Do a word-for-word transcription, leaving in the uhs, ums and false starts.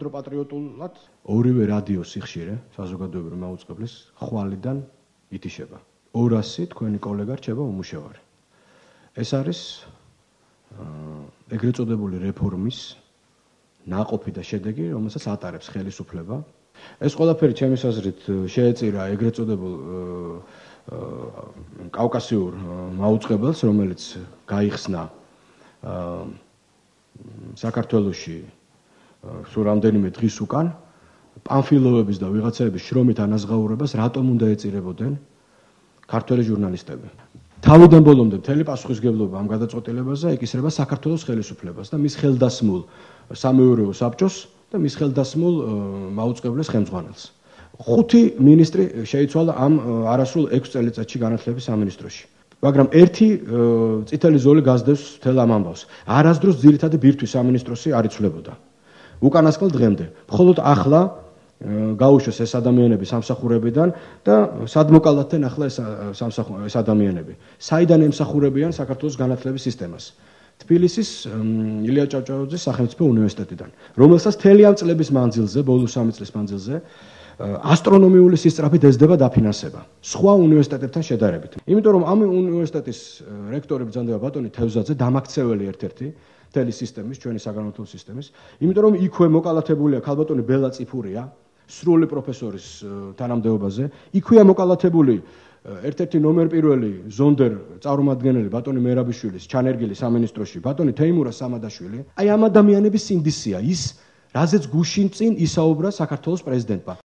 უფრო პატრიოტულად ორივე რადიო სიხშირე საზოგადოებრივი მაუწყებლის ხვალიდან ითიშება. ორასი თქვენი კოლეგა რჩება უმუშევარი. ეს არის ეგრეთ წოდებული რეფორმის ნაყოფი და შედეგი, რომელსაც ატარებს ხელისუფლება. ეს ყველაფერი ჩემის აზრით შეეწირა ეგრეთ წოდებულ კავკასიურ მაუწყებელს, რომელიც გაიხსნა საქართველოში სულ რამდენიმე დღის უკან, პამფილოვების და ვიღაცების შრომით ანაზღაურებას რატომ უნდა ეწირებოდნენ ქართველი ჟურნალისტები. თავიდან ბოლომდე მთელი პასუხისმგებლობა ამ გადაწყვეტილებაზე ეკისრება საქართველოს ხელისუფლებას და მის ხელდასმულ სამეურვეო საბჭოს და მის ხელდასმულ მაუწყებლის ხელმძღვანელს. ხუთი მინისტრი შეიცვალა ამ არასრულ ექვს წელიწადში განათლების სამინისტროში. მაგრამ ერთი წითელი ზოლი გასდევს მთელ ამ ამბავს. არასდროს ძირითადი ბირთვის სამინისტროსი არ იცვლებოდა. უკანასკნელ დღემდე. მხოლოდ ახლა გაუშვეს ეს ადამიანები სამსახურებიდან და სად მოკალათდნენ ახლა ეს ეს ადამიანები. საიდან ემსახურებიან საქართველოს განათლების სისტემას? თბილისის ილია ჭავჭავაძის სახელმწიფო უნივერსიტეტიდან, რომელსაც მთელი ამ წლების მანძილზე, ბოლო სამი წლის მანძილზე ასტრონომიული სისწრაფით ეძდება დაფინანსება სხვა უნივერსიტეტებთან შედარებით. იმიტომ რომ ამ უნივერსიტეტის რექტორი ბრძანდება ბატონი თევზაძე, დამაქცეველი ერთ-ერთი მთელი სისტემის, ჩვენი საგანმანათლებლო სისტემის, იმიტომ რომ იქვე მოკალათებულია ქალბატონი ბელა წიფურია, სრული პროფესორის თანამდებობაზე, იქვეა მოკალათებული ერთ-ერთი ნომერ პირველი ზონდერ წარმომადგენელი ბატონი მერაბიშვილის ჩანერგილი სამინისტროში, ბატონი თეიმურა სამადაშვილი. აი ამ ადამიანების სინდისია ის, რაზეც გუშინ წინ ისაუბრა საქართველოს პრეზიდენტმა.